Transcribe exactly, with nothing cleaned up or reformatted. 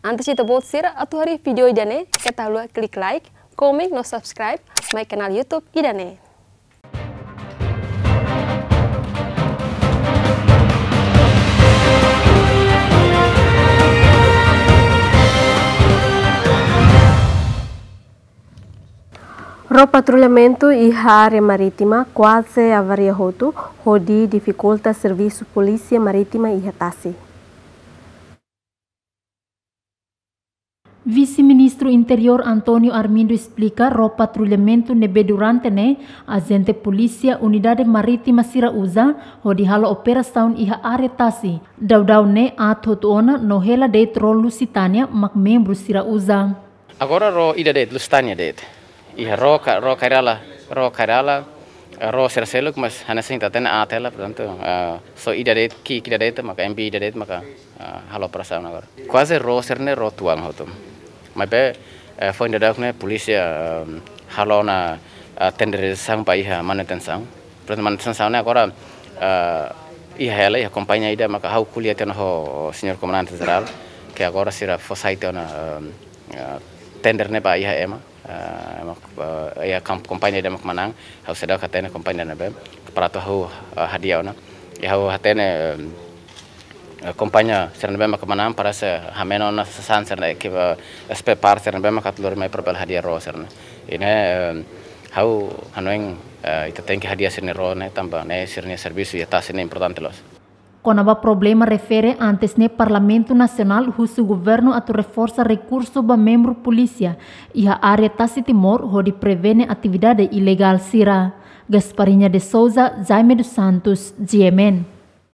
Antes ita-boot sira atu haree vídeo ida-ne'e, keta haluha klik like, komen no subscribe mai kanál YouTube ida-ne'e. Ró patrullamentu iha área marítima kuaze avaria hotu, hodi difikulta servisu Polísia Marítima iha tasi. Vise-Ministru Interiór António Armindo esplika ró patrullamentu ne'ebé durante ne'e ajente polísia Unidade Marítima sira uza hodi halo operasaun iha área tasi. Daudaun ne'e aat hotu ona no hela de'it ró Lusitânia mak membru sira uza. Agora ró ida de'it, Lusitânia de'it. Iha ró ka-, ró Kairala, ró Kairala, eh, ró sira seluk, mas hanesan ita hatene aat hela, portantu, eh, só ida de'it, ki'ik ida de'it, maka M B ida de'it, maka, eh, halo operasaun agora. Kuaze ró sira-ne'e ró tuan hotu. Maibé, eh, foin daudauk ne'e polísia, eh, halo ona, eh, tenderizasaun ba iha manutensaun. Portantu, manutensaun ne'e agora, eh, iha hela, iha kompañia ida, maka ha'u ko'alia tiha ona ho señór Komandante Jerál, ke agora sira fó sai tiha ona, eh, eh, tender ne'e ba iha ema. Ah, mak, ah, iha kam-, kompañia ida mak manán, ha'u seidauk hatene kompañia ne'ebé, para atu ha'u, ah, hadi'a ona. I ha'u hatene, em, eh, kompañia sira ne'ebé mak manán, para se hameno na sasan sira ne'e ke, eh, spare part sira ne'ebé mak atu lori mai para bele hadi'a ró sira-ne'e. I ne'e, em, ha'u hanoin, eh, ita tenke hadi'a sira-nia ró ne'e, tanba ne'e sira-nia servisu iha tasi ne'e importante loos. Kona-ba problema refere, antes ne'e Parlamentu Nasionál husu governu atu reforsa rekursu ba membru polísia iha área tasi Timor hodi prevene atividade ilegál sira. Gasparinha de Souza, Jaime dos Santos, G M N.